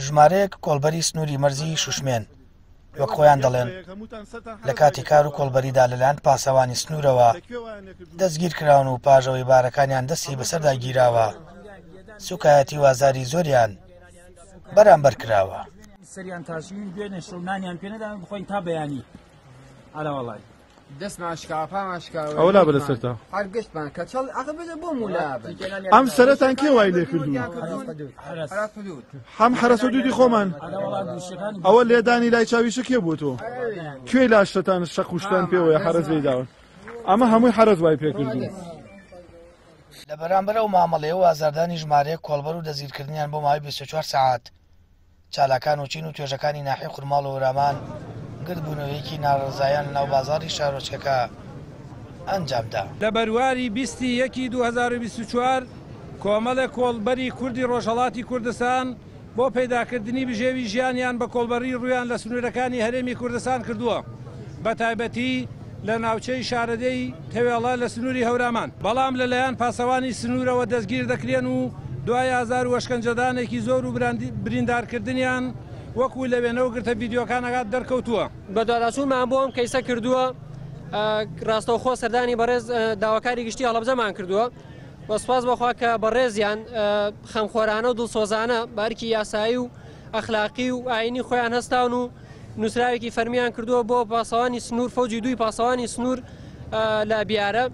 ژمارەیەک کۆڵبەری سنووری مەرزی شوشمێن وەک خۆیان دەڵێن لە کاتی کار و کۆڵبەریدا لەلایەن پاسەوانی سنوورەوە دەستگیر کراون و پاژەوەی بارەکانیان دەستی بەسەردا گیراوە سوکایەتی و ئازاری زۆریان بەرامبەر کراوە. سەریان تاشیوین دوێنێ شەو نانیان پێ نەدان بخۆین تا بەیانی ئەرەوەڵای. دەستمان شکاوە پامان شکاوە ئەوە لابە لەسەرتا هەر گشتمان کەچەڵ ئەخە بێتە بۆ مولابن. ئەم سەرەتان کێ وای لێ کردوون؟ هەم حەرەس حدودی خۆمان ئەوە لێدانی لای چاویشە کێ بووە تۆ کوێی لاشتەتان شەق و شتان پێوەیە حەرەس لێی داون ئەمە هەمووی حەرەس وای پێ کردوون. لە بەرامبەر ئەو مامەڵەیە و ئازاردانی ژمارەیەک کۆڵبەر و دەستگیرکردنیان بۆ ماوەی 24 سەعات، چالاکان و چین و توێژەکانی ناحیەی خورماڵ و هەورامان گردبوونەوەیەکی ناڕەزایان لەناو بازاڕی شارۆچکەکە ئەنجامدا. لە بەرواری 20 ی یەکی 2024 کۆمەڵێک کۆڵبەری کوردی ڕۆژهەڵاتی کوردستان بۆ پەیداکردنی بژێوی ژیانیان بە کۆڵبەری ڕوویان لە سنوورەکانی هەرێمی کوردستان کردووە بەتایبەتی لە ناوچەی شارەدێی تەوێڵە لە سنووری هەورامان، بەڵام لەلایەن پاسەوانی سنوورەوە دەستگیر دەکرێن و دوای ئازار و ئەشکەنجەدانێکی زۆر و بریندارکردنیان وەکو لە وێنە و گرتە ڤیدیۆکانەکە دەرکەوتووە. بەدواداچوونمان بۆ ئەم کەیسە کردووە، ڕاستەوخۆ سەردانی بەڕێز داواکاری گشتی هەڵەبجەمان کردووە و سوپاس بۆ خوا کە بەڕێزیان خەمخۆرانە و دڵسۆزانە بە ئەرکی یاسایی و ئەخلاقی و ئایینی خۆیان هەستاون و نووسراوێکی فەرمیان کردووە بۆ پاسەوانی سنوور فەوجی دووی پاسەوانی سنوور لە بیارە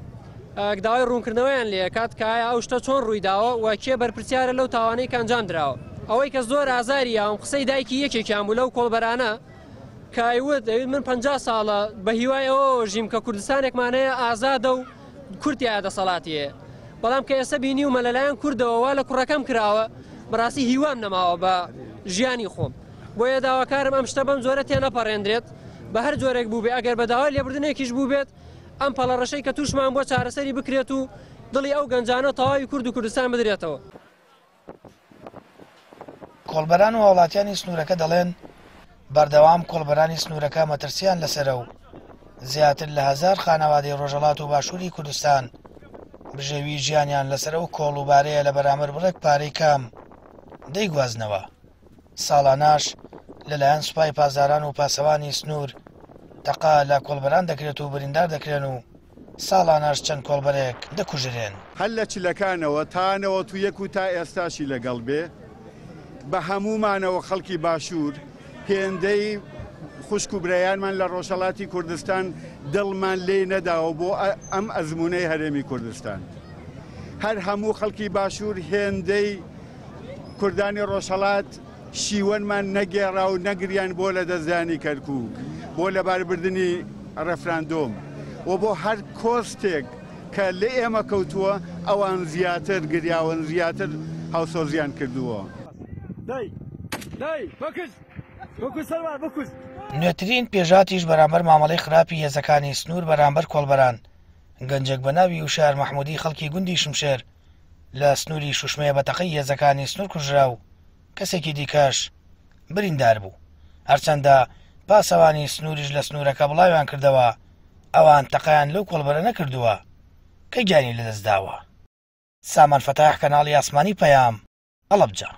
داوای ڕوونکردنەوەیان لێکات کە ئایا ئەو شتە چۆن ڕوویداوە و کێ بەرپرسیارە لەو تاوانەی کە ئەنجام دراوە. ئەوەی کە زۆر ئازاری یاوم قسەی دایکی یەکێکیان بوو لەو کۆڵبەرانە کە ئەیوت ئەویت من 50 ساڵە بە هیوای ئەوەوە ژیم کە کوردستانێکمان هەیە ئازادە و کورد تیایا دەسەڵاتی هەیە بەڵام کە ئێستا بینیومە لەلایەن کوردەوە وا لە کوڕەکەم کراوە بەڕاستی هیوام نەماوە بە ژیانی خۆم. بۆیە داواکارم ئەم شتە بەم جۆرە تێنەپەڕێندرێت، بە هەر جۆرێک بووبێ ئەگەر بە داوای لێبوردنێکیش بووبێت، ئەم پەڵە ڕەشەی کە تووشمان بووە چارەسەری بکرێت و دڵی ئەو گەنجانە و تەواوی کورد و کوردستان بدرێتەوە. کۆڵبەران و هاوڵاتیانی سنوورەکە دەڵێن، بەردەوام کۆڵبەرانی سنوورەکە مەترسییان لەسەرە و زیاتر لە هەزار خانەوادەی ڕۆژهەڵات و باشووری کوردستان بژێویی ژیانیان لەسەر ئەو کۆڵ و بارەیە لە بەرامبەر بڕێک پارەی کەم دەیگوازنەوە. ساڵانەش لەلایەن سوپای پاسداران و پاسەوانی سنوور تەقە لە کۆڵبەران دەکرێت و بریندار دەکرێن و ساڵانەش چەند کۆڵبەرێک دەکوژرێن. هەر لە چلەکانەوە تا 91 و تا ئێستاشی لەگەڵ بێ بە هەموومانەوە خەڵکی باشوور هێندەی خوشک و برایانمان لە ڕۆژهەڵاتی کوردستان دڵمان لێی نەداوە بۆ ئەم ئەزموونەی هەرێمی کوردستان. هەر هەموو خەڵکی باشوور هێندەی کوردانی ڕۆژهەڵات شیوەنمان نەگێڕا و نەگریان بۆ لەدەستدانی کەرکووک، بۆ لەباربردنی ڕێفراندۆم و بۆ هەر کۆستێک کە لە ئێمە کەوتووە، ئەوان زیاتر گریاون، زیاتر هاوسۆزیان کردووە. نوێترین پێشهاتیش بەرامبەر مامەڵەی خراپی هێزەکانی سنوور بەرامبەر کۆڵبەران، گەنجێک بە ناوی وشیار مەحموودی خەڵکی گوندی شمشێر لە سنووری شوشمێ بە تەقەی هێزەکانی سنوور کوژرا و کەسێکی دیکەش بریندار بوو. هەرچەندە پاسەوانی سنووریش لە سنوورەکە بڵاویان کردەوە ئەوان تەقەیان لەو کۆڵبەرە نەکردووە کە گیانی لەدەستداوە. سامان فەتاح کەناڵی ئاسمانی پەیام، هەڵەبجە.